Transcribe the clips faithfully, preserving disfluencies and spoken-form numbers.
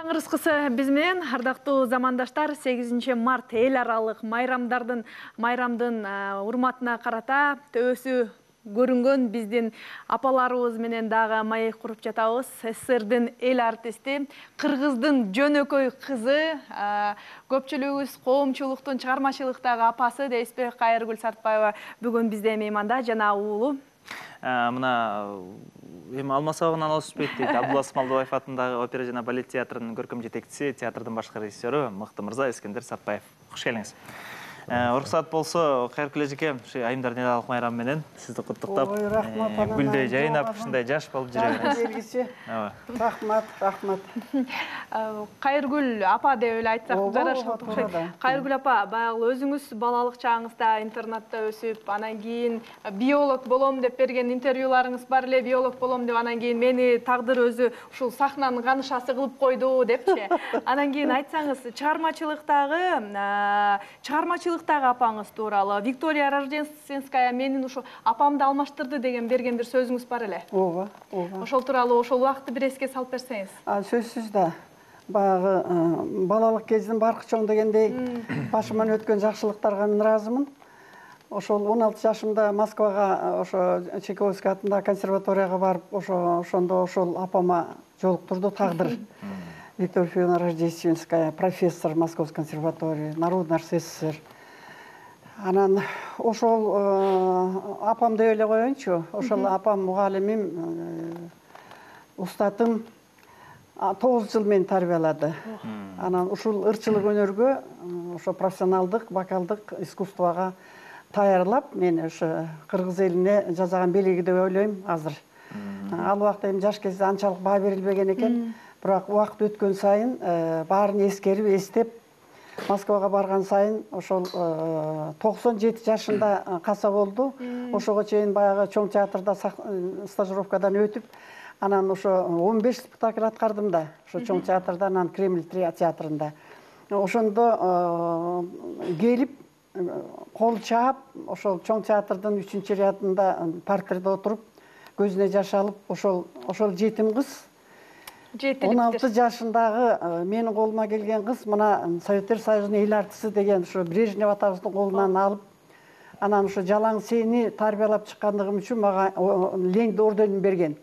Кыскысы биз менен ардактуу замандаштар сегизинчи март эл аралык майрамдардын майрамдын урматына карата төбөсү көрүнгөн биздин апаларыбыз менен дагы маек куруп жатабыз. СССРдин эл артисти, кыргыздын жөнөкөй кызы, көпчүлүгүбүз коомчулуктун чыгармачылыктагы апасы дейсизби, Кайыргүл Сартбаева бүгүн бизде мейманда жана уулу. Мына эми алмасабагынан алышпайт дейт. Абдулла Смалдыбаев атындагы опера жана балет театрынын көркөм жетекчиси, театрдын башкы режиссеру мыкты мырза Искендер Сартбаев. Кош келиңиз. Уруксат болсо, Кайыргүл эжеке, ушу айымдардын эл аралык майрамы менен сизди куттуктап, гүлдөй жайнап, ушундай жаш болуп жүрө бересиз. Рахмат, рахмат. Кайыргүл апа деп эле айтсак жарашат окшойт. Кайыргүл апа, баягы өзүңүз балалык чагыңызда интернатта өсүп, анан кийин биолог болом деп берген интервьюларыңыз бар эле, биолог болом деп, анан кийин мени тагдыр өзү ушул сахнанын канышасы кылып койду депчи. Анан кийин айтсаңыз, чыгармачылыктагы, чыгармачылык апаңыз тууралуу, Виктория Рождественская менин ушу апамды алмаштырды деген берген бир сөзүңүз бар эле. Ооба, ооба. Ошол тууралуу ошол убакытты бир эске салып берсеңиз. Сөзсүз да. Баягы балалык кездин баркы чоң дегендей башыман өткөн жакшылыктарга мен ыраазымын. Ошол он алты жашымда Москвага, ошо Чайковский атындагы консерваторияга барып, ошо ошондо ошол апама жолуктурду тагдыр. Виктория Федоровна Рождественская, профессор Московской консерватории, народный артист СССР. Анан ошол апам деп эле коеюнчу, ошол апам мугалимим, устатым тогуз жыл мени тарбиялады. Анан ушул ырчылык өнөргө, ошо профессионалдык, вокалдык искусствого даярлап, мени ошо кыргыз элине жасаган белеги деп ойлойм азыр. Ал убакта эми жаш кезде анчалык баа берилбеген экен, бирок убакыт өткөн сайын баарын эскерип, эстеп, Москвага барган сайын ошол токсон жети жашында каса болду. Ошого чейин баягы чоң театрда стажировкадан өтүп, анан ошо он беш спектакль аткардым да, ошо чоң театрда, анан Кремль театрында. Ошондо келип, кол чаап, ошол чоң театрдын үчүнчү рядында партерде отуруп, көзүнө жаш алып, ошол ошол жетим кыз, он алты жашындагы менин колума келген кыз, мына Советтер Союзунун эл артисти деген ушу Брежнев атабыздын колунан алып, анан ушу жалаң сени тарбиялап чыккандыгым үчүн мага Ленин орденин берген.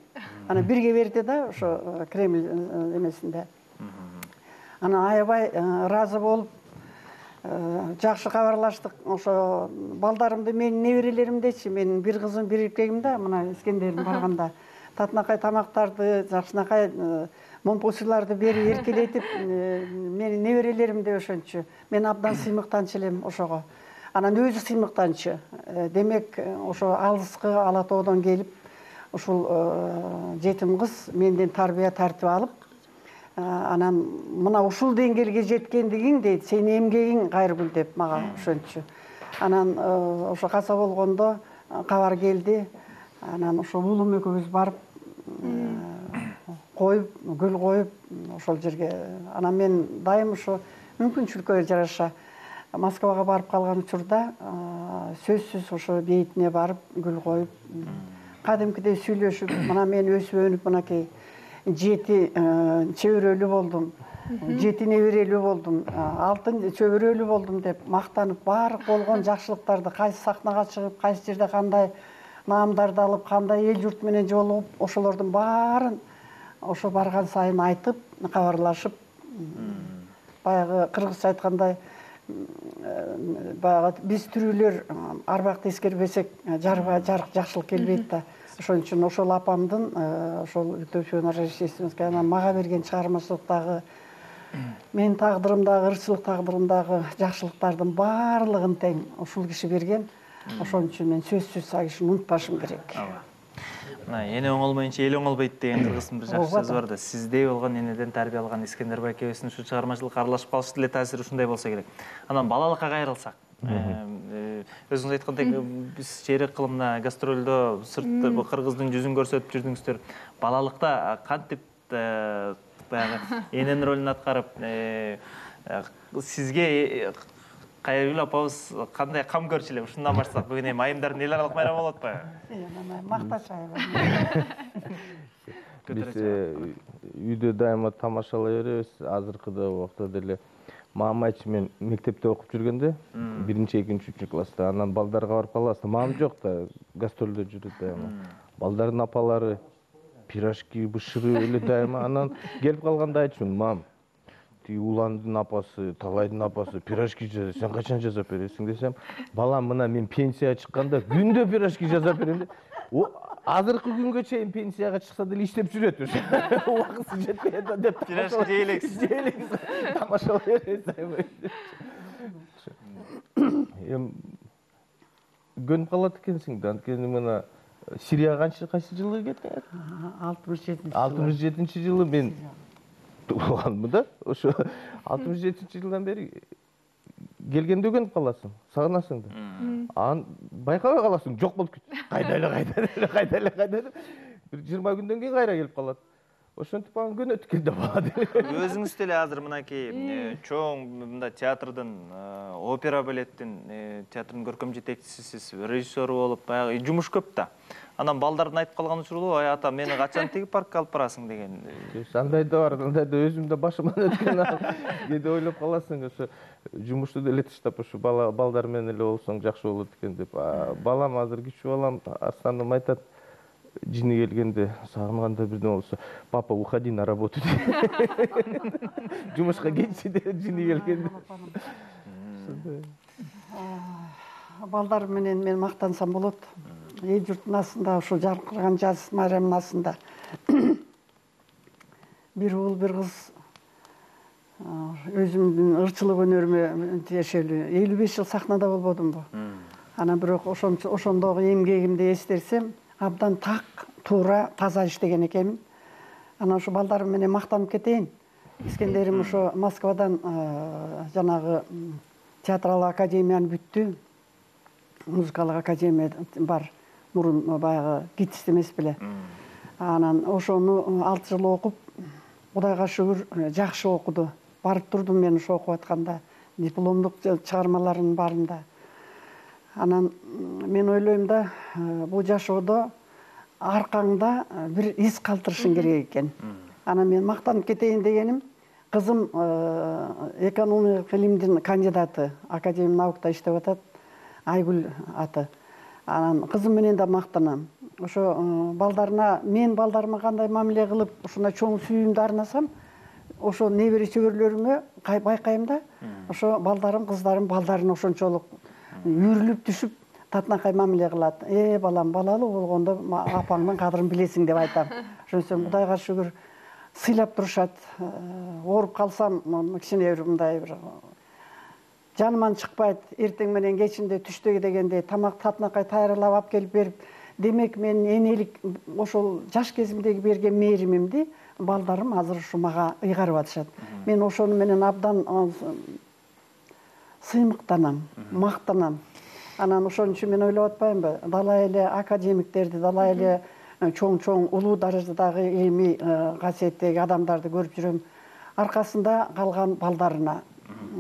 Анан бирге берди да, ошо Кремль эмесинде. Анан аябай ыраазы болуп, жакшы кабарлаштык. Ошо балдарымды, менин неберелеримдечи, менин бир кызым, бир эркегим да, мына Искендердин барганда татынакай тамактарды, жакшынакай момпосуйларды берип эркелетип, менин неберелерим деп ошончу. Мен абдан сыймыктанчу элем ошого. Анан өзү сыймыктанчу. Демек, ошо алыскы Ала тоодон келип, ушул жетим кыз менден тарбия тартип алып, анан мына ушул деңгээлге жеткендигиң дейт, сенин эмгегиң Кайыргүл деп мага ошончу. Анан ошо каса болгондо кабар келди. Анан ошол уулум экөөбүз барып, коюп, гүл коюп, ошол жерге. Анан мен дайым ошо мүмкүнчүлүккө жараша Москвага барып калган учурда сөзсүз ошо бейитине барып, гүл коюп, кадимкидей сүйлөшүп, мына мен өсүп өнүп, мынакей жети чөбөрөлүү болдум, жети неберелүү болдум, алтын чөбөрөлүү болдум деп мактанып, баардык болгон жакшылыктарды кайсы сахнага чыгып, кайсы жерде кандай наамдарды алып, кандай эл журт менен жолугуп, ошолордун баарын ошо барган сайын айтып, кабарлашып, баягы кыргызча айткандай, баягы биз тирүүлөр арбакты эскербесек, жарга жакшылык келбейт да. Ошон үчүн ошол апамдын, ошол Виктория Федоровна Рождественская мага берген чыгармачылыктагы, менин тагдырымдагы, ырчылык тагдырымдагы жакшылыктардын баардыгын тең ушул киши берген. Ошон үчүн мен сөзсүз ал кишини унутпашым керек. Мына эне оңолмойнча эл оңолбойт деген кыргыздын бир жакшы сөзү бар да. Сиздей болгон энеден тарбия алган Искендер байкебиздин ушу чыгармачылыкка аралашып калышы деле таасири ушундай болсо керек. Анан балалыкка кайрылсак, өзүңүз айткандай биз шейрек кылымда гастролдо сыртта кыргыздын жүзүн көрсөтүп жүрдүңүздөр. Балалыкта кантип баягы эненин ролун аткарып, сизге Кайыргүл апабыз кандай кам көрчү эле? Ушундан баштасак, бүгүн эми айымдардын эл аралык майрамы болуп атпайбы? Мактачайбы. биз үйдө дайыма тамашалай беребиз. Азыркыда убакта деле мама айчы мен мектепте окуп жүргөндө биринчи экинчи үчүнчү класста анан балдарга барып калабыз. Мамам жок да, гастролдо жүрөт дайыма. Балдардын апалары пирожки бышырып эле дайыма. Анан келип калганда айтчумун: мам, тиги Уландын апасы, Талайдын апасы пирожки жазат, сен качан жазап бересиң десем, балам, мына мен пенсияга чыкканда күндө пирожки жазап берем деп. Азыркы күнгө чейин пенсияга чыкса деле иштеп жүрөт. Убакыты жетпей атат деп. Пирожки жейлексиз. Жейлексиз. Тамашалай беребиз дайыма. Эми көнүп калат экенсиң да. Анткени мына Сирияга канчы кайсы жылы кеткен? алтымыш жетинчи алтымыш жетинчи жылы мен туулганмын да. Ошо алтымыш жетинчи жылдан бери келгенде көнүп каласың, сагынасың да. Анан байкабай каласың, жок болуп кетти. Кайда эле, кайда эле, кайда эле, кайда эле. Бир жыйырма күндөн кийин кайра келип калат. Ошентип анан көнөт экен да бала деле. Өзүңүз деле азыр мынакей чоң мындай театрдын, опера балеттин театрдын көркөм жетекчисисиз, режиссеру болуп, баягы жумуш көп да. Анан балдардын айтып калган учуру, ай ата, мени качан тиги паркка алып барасың деген. Андай да бар, андай да өзүм да башыман өткөн. Кээде ойлоп каласың, ошо жумушту деле таштап, ошо бала балдар менен эле болсоң жакшы болот экен деп. Балам азыр кичүү балам, Арстаным айтат, жини келгенде сагынганда бирден болсо, папа, уходи на работу. Жумушка кетчи деп жини келгенде. Балдар менен мен мактансам болот. Эл журттун астында, ушул жаркыраган жаз майрамдын астында бир уул, бир кыз өзүмдүн ырчылык өнөрүмө тиешелүү элүү беш жыл сахнада болбодумбу? Анан бирок ошондогу эмгегимди эстерсем, абдан так, туура, таза иштеген экенмин. Анан ушу балдарым менен мактанып кетейин. Искендерим ошо Москвадан жанагы театралык академияны бүттү. Музыкалык академия бар. Мурун баягы гитист эмес беле. Анан ошону алты жыл окуп, Кудайга шүгүр, жакшы окуду. Барып турдум мен ошо окуп атканда, дипломдук чыгармаларынын барында. Анан мен ойлойм да, бул жашоодо аркаңда бир из калтырышың керек экен. Анан мен мактанып кетейин дегеним, кызым экономик илимдин кандидаты, академия наукта иштеп атат, Айгүл аты. Анан кызым менен да мактанам. Ошо балдарына, мен балдарыма кандай мамиле кылып, ушундай чоң сүйүүмдү арнасам, ошо небере чөбөрлөрүмө байкайм да, ошо балдарым, кыздарым балдарын ошончолук үйрүлүп түшүп, татынакай мамиле кылат. Э, балам, балалуу болгондо апаңдын кадырын билесиң деп айтам. Ошонсом Кудайга шүгүр сыйлап турушат. Ооруп калсам, кичине бир мындай бир жаныман чыкпайт. Эртең менен кечинде түштө дегенде тамак татынакай тайырлап алып келип берип, демек мен энелик ошол жаш кезимдеги берген мээримимди балдарым азыр ушу мага ыйгарып атышат. Мен ошону менен абдан сыймыктанам, мактанам. Анан ошон үчүн мен ойлоп атпаймынбы, далай эле академиктерди, далай эле чоң-чоң улуу даражадагы илимий касиеттеги адамдарды көрүп жүрөм. Аркасында калган балдарына,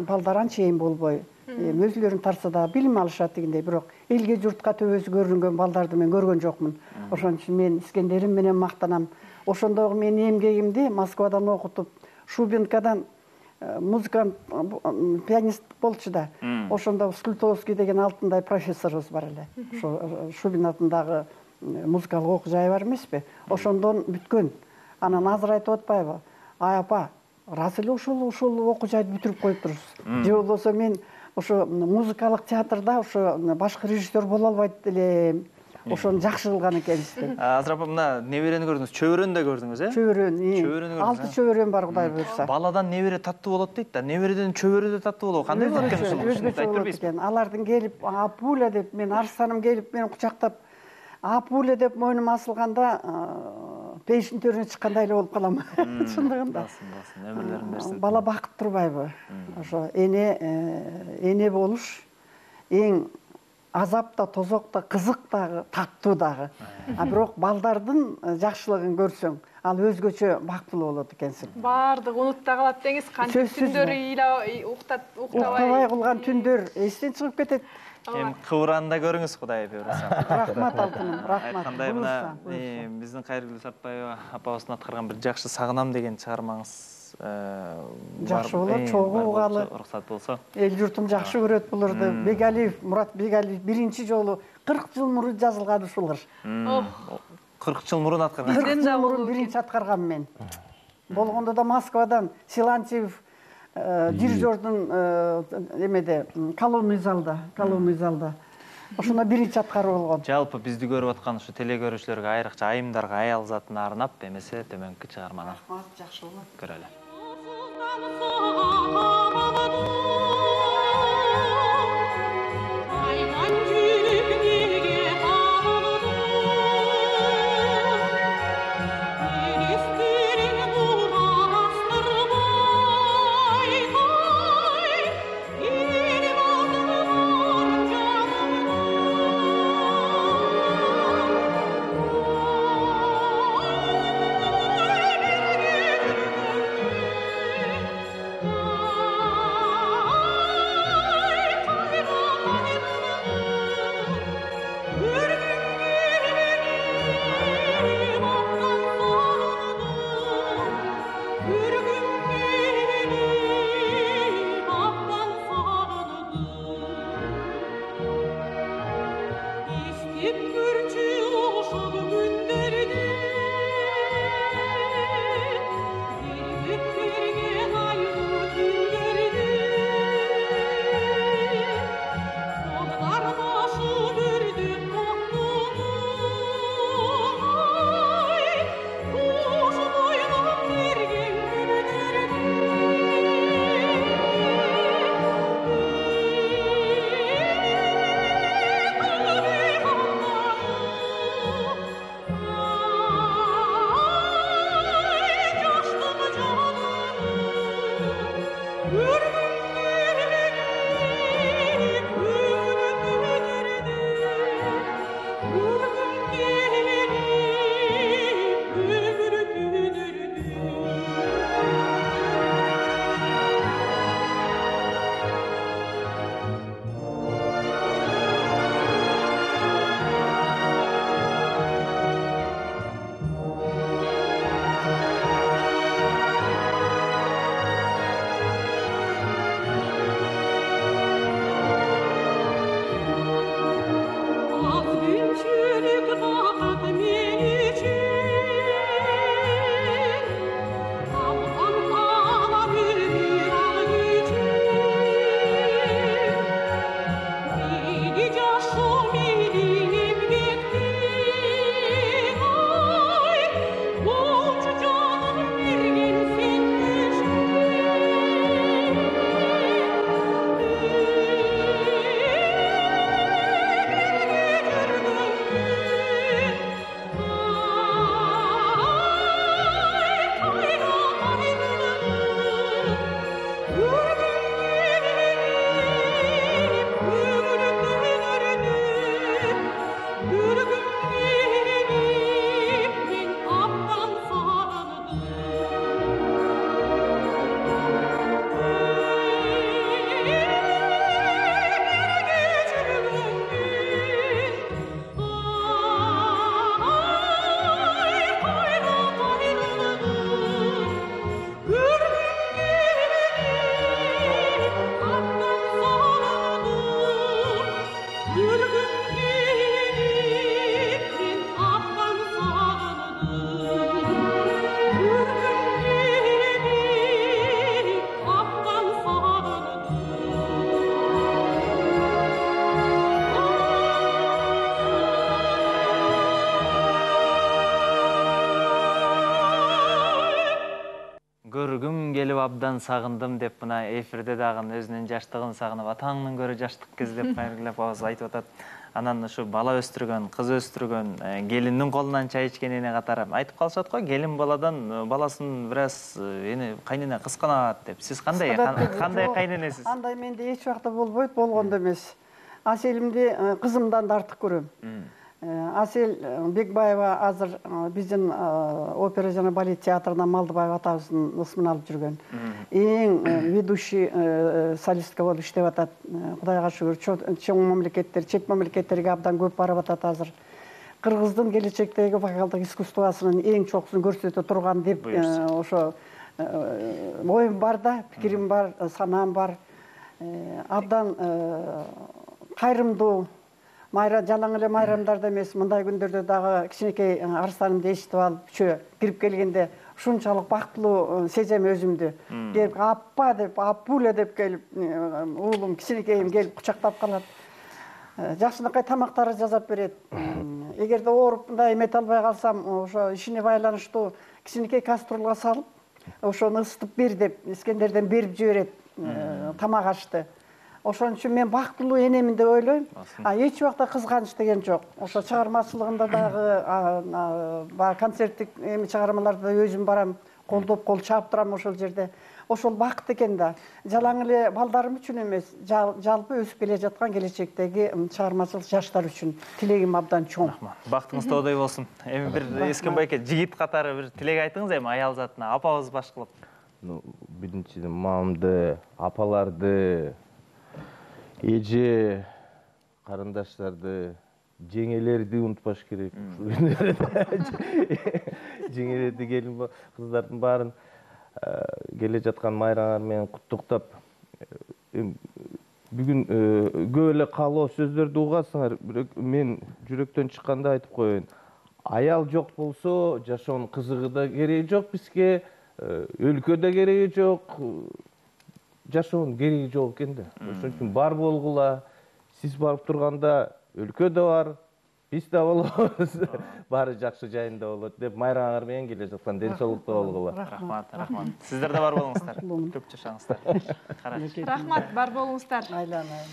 балдар анча эң болбой, өзүлөрүн тарса да билим алышат дегендей, бирок элге журтка төбөсү көрүнгөн балдарды мен көргөн жокмун. Ошон үчүн мен искендерим менен мактанам. Ошондогу менин эмгегимди Москвадан окутуп, Шубинкадан музыкант, пианист болчу да. Ошондо Скультовский деген алтындай профессорубуз бар эле. Ошо Шубин атындагы музыкалык окуу жайы бар эмеспи? Ошондон бүткөн. Анан азыр айтып атпайбы? Ай апа, рас эле ушул ушул окуу жайды бүтүрүп коюптурсуз. Же болбосо мен ошо музыкалык театрда ошо башкы режиссер боло албайт элем. Ошону жакшы кылган экенсиз деп. Азыр апа, мына неберени көрдүңүз, чөбөрөнү да көрдүңүз, э? Чөбөрөн, Чөбөрөнү көрдүңүз. алты чөбөрөн бар, Кудай буйрса. Баладан небере таттуу болот дейт да, небереден чөбөрө да таттуу болот. Кандай болот экен ушул? Өзгөчө болот экен. Алардын келип, апуля деп, мен Арстаным келип мени кучактап, апуля деп мойнума асылганда, пейиштин төрүнө чыккандай эле болуп калам. Чындыгында. Басын, басын, өмүрлөрүн берсин. Бала бакыт турбайбы? Ошо эне, эне болуш эң азап да, тозок да, кызык дагы, таттуу дагы. А бирок балдардын жакшылыгын көрсөң, ал өзгөчө бактылуу болот экенсиң. Баардык унутта калат деңиз, канча түндөр уктат уктабай. Уктабай кылган түндөр эстен чыгып кетет. Эми кыбыранда көрүңүз, Кудай буйруса. Рахмат алтыным, рахмат. Айткандай мына биздин Кайыргүл Сартбаева апабыздын аткарган бир жакшы сагынам деген чыгармаңыз жакшы болот, чогуу угалы. Уруксат болсо. Эл журтум жакшы көрөт буларды. Бегалиев, Мурат Бегалиев биринчи жолу кырк жыл мурун жазылган ушулар. кырк жыл мурун аткарган. кырк жыл мурун биринчи аткаргам мен. Болгондо да Москвадан Силантьев дирижердун эмеде колонный залда, колонный залда. Ошондо биринчи аткаруу болгон. Жалпы бизди көрүп аткан ушу телекөрүүчүлөргө айрыкча айымдарга, аял затына арнап эмесе төмөнкү чыгарманы жакшы болот. көрөлү. Көргүм келип абдан сагындым деп мына эфирде дагы өзүнүн жаштыгын сагынып, атаңдын көрө жаштык кез деп Кайыргүл апабыз айтып атат. Анан ушу бала өстүргөн, кыз өстүргөн, келиндин колунан чай ичкенине катары айтып калышат го, келин баладан баласын бир аз эне кайнене кысканат деп. Сиз кандай кандай кайненесиз? Андай менде эч убакта болбойт, болгондо эмес. Аселимди кызымдан да артык көрөм. Асель Бекбаева азыр биздин опера жана балет театрынан Малдыбаев атабыздын ысмын алып жүргөн. Эң ведущий солистка болуп иштеп атат. Кудайга шүгүр, чоң мамлекеттер, чет мамлекеттерге абдан көп барып атат азыр. Кыргыздын келечектеги вокалдык искусствосунун эң чокусун көрсөтө турган деп ошо оюм бар да, пикирим бар, санаам бар. Абдан кайрымдуу. Майра жалаң эле майрамдарда эмес, мындай күндөрдө дагы кичинекей арстанымды эшитип алып, чө кирип келгенде ушунчалык бактылуу сезем өзүмдү. Келип аппа деп, аппуля деп келип, уулум кичинекейим келип кучактап калат. Жакшынакай тамактары жасап берет. Эгерде ооруп мындай эмете албай калсам, ошо ишине байланыштуу кичинекей кастрюлга салып, ошону ысытып бер деп, Искендерден берип жиберет тамак ашты. Ошон үчүн мен бактылуу энемин деп ойлойм. А эч убакта кызганыч деген жок. Ошо чыгармачылыгында дагы, баягы концерттик эми чыгармаларда өзүм барам, колдоп, кол чаап турам ошол жерде. Ошол бакыт экен да. Жалаң эле балдарым үчүн эмес, жалпы өсүп келе жаткан келечектеги чыгармачыл жаштар үчүн тилегим абдан чоң. Бактыңыз тоодой болсун. Эми бир Эскин байке жигит катары бир тилек айтыңыз эми аял затына, апабыз баш кылып. Ну, биринчиден мамамды, апаларды, эже, карындаштарды, жеңелерди унутпаш керек. Жеңелерди, келин кыздардын баарын келе жаткан майрамыңар менен куттуктап, бүгүн көп эле каалоо сөздөрдү угасыңар, бирок мен жүрөктөн чыкканда айтып коеюн. Аял жок болсо, жашоонун кызыгы да кереги жок бизге, өлкө да кереги жок. Жашоонун кереги жок экен да. Ошон үчүн бар болгула. Сиз барып турганда өлкө да бар, биз да болобуз. Баары жакшы жайында болот деп майрамыңар менен келе жаткан ден соолукта болгула. Рахмат, рахмат. Сиздер да бар болуңуздар. Көп жашаңыздар. Рахмат, бар болуңуздар. Айланайын.